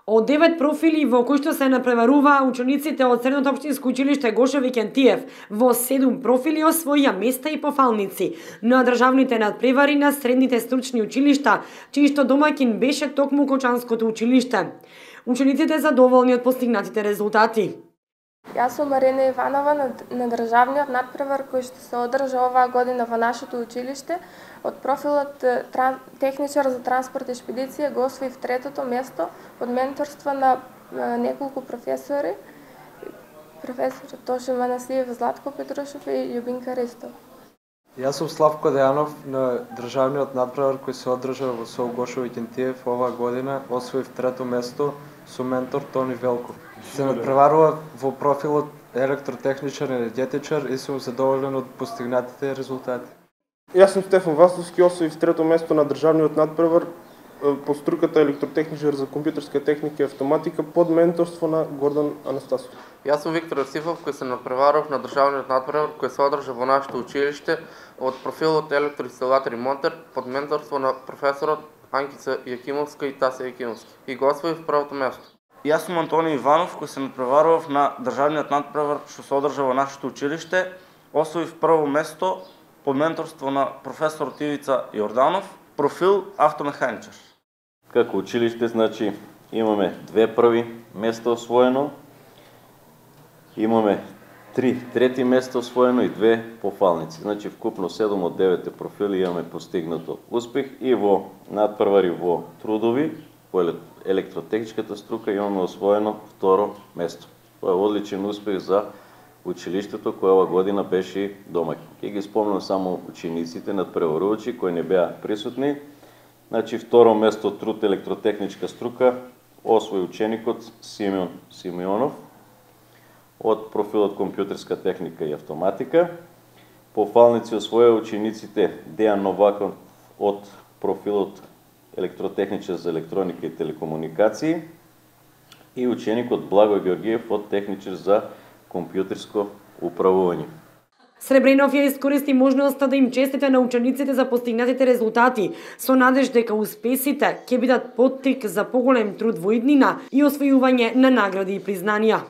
Од 9 профили во кои што се напреваруваа учениците од Средното општинско училиште Гоше Викентиев, во 7 профили освоија места и пофалници на државните надпревари на средните стручни училишта, чиј што домаќин беше токму Кочанското училиште. Учениците задоволни од постигнатите резултати. Јас сум Марина Иванова на државниот надпревар кој што се одржа оваа година во нашето училиште. Од профилот техничар за транспорт и шпедиција го освоив 3-то место под менторство на неколку професори, професор Тоше Манасиев, Златко Петрушев и Љубинка Ристов. Јас сум Славко Дејанов на државниот надпревар кој се одржа во СОУ Гоше Викентиев оваа година, освоив 3-то место со ментор Тони Велков. Се надпреварува во профилот електротехничар и енергетичар и сум задоволен од постигнатите резултати. Јас сум Стефан Васовски, освоив 3-то место на државниот надпревар по струката електротехничар за компјутерска техника и автоматика под менторство на Гордан Анастасов. Јас сум Виктор Јосифов кој се надпреварав на државниот надпревар кој се одржа во нашето училиште од профилот електроинсталатор и монтер под менторство на професорот Анкица Јакимовска и Тасе Јакимовски и го освоив првото место. Јас сум Антони Иванов кој се надпреварував на државниот надпревар што се одржа во нашето училиште, освоив прво место под менторство на професор Ивица Јорданов, профил автомеханичар. Како училиште, значи, имаме 2 први места освоено, имаме 3 трети места освоено и 2 пофалници. Значи, вкупно 7 од 9 профили имаме постигнато успех и во надпревари во трудови, по електротехничката струка имаме освоено 2 место. Тоа е одличен успех за училиштето кој ова година беше домаќин. Ќе ги спомнам само учениците надпреварувачи кои не беа присутни. Значи, 2 место труд електротехничка струка освои ученикот Симеон Симеонов од профилот компјутерска техника и автоматика. Пофалници освоја учениците Дејан Новаков од профилот електротехничар за електроника и телекомуникации и ученикот Благој Георгиев од техничар за компјутерско управување. Сребренов ја искористи можноста да им честите на учениците за постигнатите резултати, со надеж дека успесите ќе бидат поттик за поголем труд во иднина и освојување на награди и признанија.